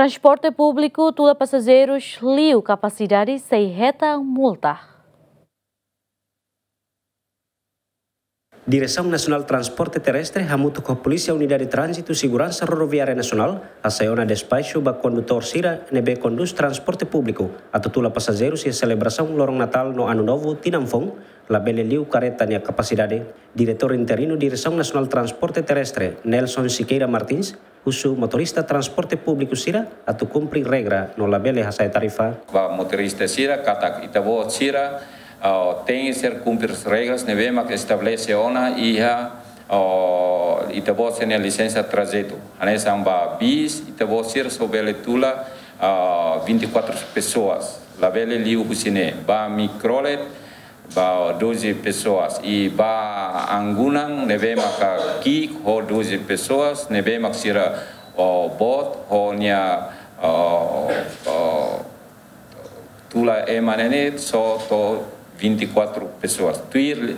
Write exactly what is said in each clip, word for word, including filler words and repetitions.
Transporte públiku tula pasajeirus liu kapasidade sei hetan multa. Diresaun Nasionál Transporte Terrestre hamutuk ho Polísia Unidade Tránzitu Seguransa Rodoviária Nasionál hasai ona despaxu ba kondutór sira ne'ebé kondús transporte públiku atu tula pasajeirus iha selebrasaun Loron Natál no Anu Novu tinan foun, labele liu karreta nia kapasidade. Diretór interinu Diresaun Nasionál Transporte Terrestre, Nelson Siqueira Martins, husu motorista transporte públiku sira atu kumpre regra no labele hasa'e tarifa. Ba motorista sira katak ita-boot sira, ah, tenke ser kumpre regras ne'ebé mak estabelese ona iha, ah, ita-boot sira-nia lisensa trajetu. Hanesan ba bis, ita-boot sira só bele tula, ah, vinte e quatro pessoas. Labele liu husi ne'e. Ba mikrolet, ba doze pessoas. I ba angunan ne'ebé maka ki'ik ho doze pessoas, ne'ebé mak sira, o, boot ho nia, o, o, tula ema ne'e ne'e só to'o vinte e quatro pessoas. Tuir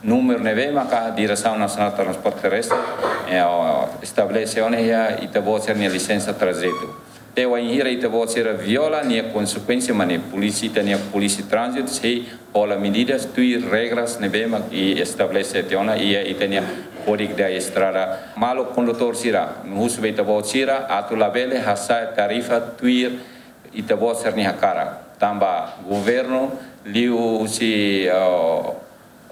númeru ne'ebé maka Diresaun Nasionál Transporte Terrestre, eh, o, estabelese ona iha ita-boot sira-nia lisensa trajetu. Te wainhira ita-boot sira viola, nia konsekuénsia mak ne'e polísia, ita-nia polísia tránzitu sei hola medidas tuir regras ne'ebé mak estabelese tiha ona iha ita-nia Kódigu da Estrada. Maluk kondutór sira, husu ba ita-boot sira atu labele hasa'e tarifa tuir ita-boot sira-nia hakarak. Tanba governu liuhusi, eh,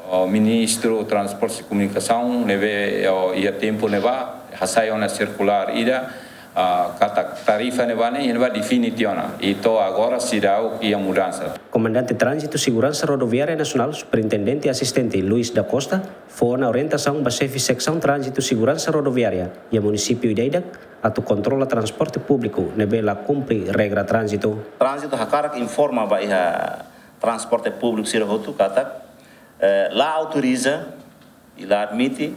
o, Ministru Transporte e Comunicação, ne'ebé, o, iha tempu ne'ebá, hasai ona sirkulár ida, ah, katak tarifa ne'ebá ne'e, ne'ebá define tiha ona. I to'o agora seidauk iha mudansa. Komandante Tránzitu Seguransa Rodoviária Nasionál, Superintendente Asistente Luis da Costa, fó ona orientasaun ba xefe Seksaun Tránzitu Seguransa Rodoviária iha munisípiu ida-idak atu kontrola transporte públiku ne'ebé la kumpre regra tránzitu. Tránzitu hakarak informa ba iha transporte públiku sira hotu katak, eh, la autoriza i la admite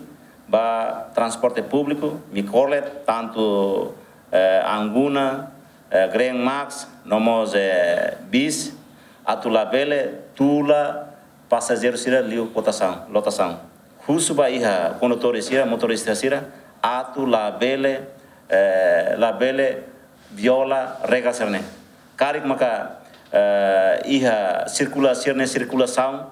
ba transporte públiku, mikrolet, tantu, eh, anguna, eh, Green Max, no mós, eh, bis, atu labele tula pasajeiru sira liu lotasaun, lotasaun. Husu ba iha kondutór sira, motorista sira, atu labele, eh, labele viola regra sira-ne'e. Karik maka, eh, iha sirkula sira-nia sirkulasaun,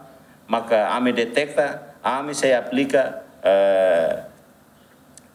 maka ami deteta, ami sei aplika, eh,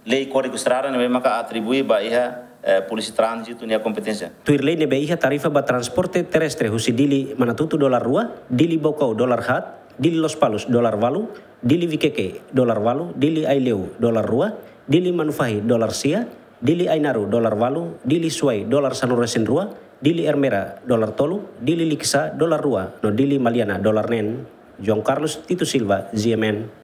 lei Kódigu Estrada ne'ebé maka atribui ba iha, eh, Polísia Tránzitu nia kompeténsia. Tuir lei ne'ebé iha tarifa ba transporte terrestre husi Dili Manatutu dolar rua, Dili Baucau dolar haat, Dili Lospalos dolar valu, Dili Viqueque dolar valu, Dili Aileu dolar rua, Dili Manufahi dolar sia, Dili Ainaro dolar valu, Dili Suai dolar sanulu-resin-rua, Dili Ermera dolar tolu, Dili Likisá dolar rua, no Dili Maliana dolar neen. João Carlos Tito Silva, G M N.